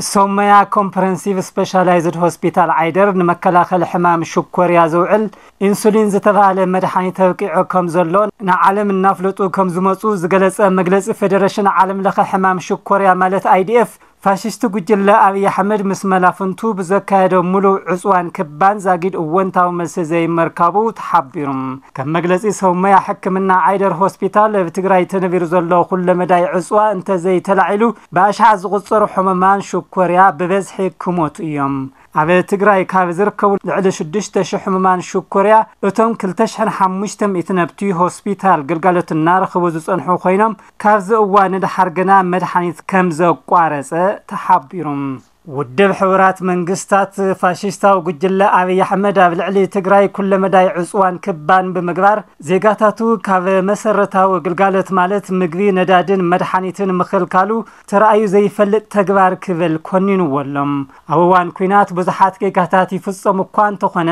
ሶመያ ኮምፕረንሲቭ ስፔሻላይዝድ ሆስፒታል ዓይደር ንመከላኸሊ ሕማም ሽኮርያ ዘውዕል ኢንሱሊን ዝተባህለ መድሓኒት ተብቂዑ ከም ዘሎ ንዓለም እናፍለጡ ከም ዝመፁ ዝገለፀ መግለፂ ፌደሬሽን ዓለም ለኸ ሕማም ሽኮርያ ማለት ኣይዲኤፍ፣ ፋሽስቲ ጉጅለ ኣብይ ኣሕመድ ምስ መላፍንቱ ብዘካየዶ ሙሉእ ዕፅዋን ክባን ዛጊድ እወንታዊ መልሲ ዘይመርካቡ ተሓቢሩ። ከም መግለፂ ሰውመያ ሕክምና ዓይደር ሆስፒታል ኣብ ትግራይ ተነቢሩ ዘሎ ኩለመዳይ ዕፅዋ እንተዘይተላዒሉ ብኣሽሓት ዝቁፀሩ ሕሙማን ሽኮርያ ብበዝሒ ክሞቱ እዮም። ኣብ ትግራይ ካብ ዝርከቡ ልዕሊ ሽዱሽተ ሽሕ ሕሙማን ሽኮርያ እቶም ክልተ ሽሕን ሓሙሽተ ሚእቲ ነብቲ ሆስፒታል ግልጋሎት እናረኸቡ ዝፀንሑ ኮይኖም ካብዚ እዋን ንደሓር ግና መድሓኒት ከም ዘቋረፀ ተሓቢሩ። ውድብ ሕቡራት መንግስታት ፋሽስታዊ ጉጅለ ኣብይ ኣሕመድ ኣብ ልዕሊ ትግራይ ኩለመዳይ ዕፅዋን ክባን ብምግባር ዜጋታቱ ካብ መሰረታዊ ግልጋሎት ማለት ምግቢ፣ ነዳድን መድሓኒትን ምኽልካሉ ተራእዩ ዘይፈልጥ ተግባር ክብል ኮኒንዎ ኣሎ። ኣብ እዋን ኲናት ብዙሓት ጌጋታት ይፍጸሙ እኳ እንተኾነ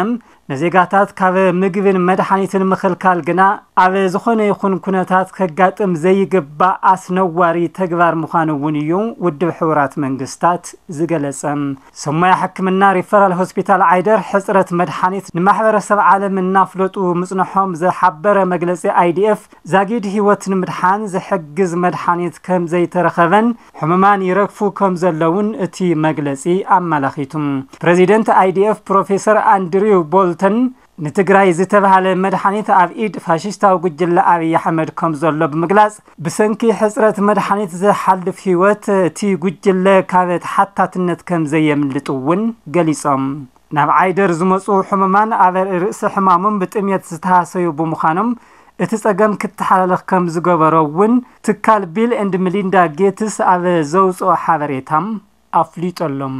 ንዜጋታት ካብ ምግብን መድሓኒትን ምኽልካል ግና ኣብ ዝኾነ ይኹን ኩነታት ከጋጥም ዘይግባእ ኣስነዋሪ ተግባር ምዃኑ እውን እዩ ውድብ ሕቡራት መንግስታት ዝገለጸ። ሰማያ ሕክምና ሪፈራል ሆስፒታል ዓይደር ሕፅረት መድሓኒት ንማሕበረሰብ ዓለም እናፍለጡ ምፅንሖም ዝሓበረ መግለፂ ኣይዲኤፍ ዛጊድ ህይወት ንምድሓን ዝሕግዝ መድሓኒት ከም ዘይተረኸበን ሕሙማን ይረግፉ ከም ዘለውን እቲ መግለፂ ኣመላኺቱ። ፕሬዚደንት ኣይዲኤፍ ፕሮፌሰር ኣንድሪው ቦልተን ንትግራይ ዝተባህለ መድሓኒት ኣብ ኢድ ፋሽስታዊ ጉጅለ ኣብይ ኣሕመድ ከም ዘሎ ብምግላፅ ብሰንኪ ሕፅረት መድሓኒት ዝሓልፍ ህይወት እቲ ጉጅለ ካብ ተሓታትነት ከም ዘየምልጥ እውን ገሊፆም። ናብ ዓይደር ዝመፁ ሕሙማን ኣብ ርእሲ ሕማሞም ብጥሜት ዝተሃሰዩ ብምዃኖም እቲ ፀገም ክተሓላለኽ ከም ዝገበሮ እውን ትካል ቢል ኤንድ ሚሊንዳ ጌትስ ኣብ ዘውፅኦ ሓበሬታ ኣፍሊጦሎም።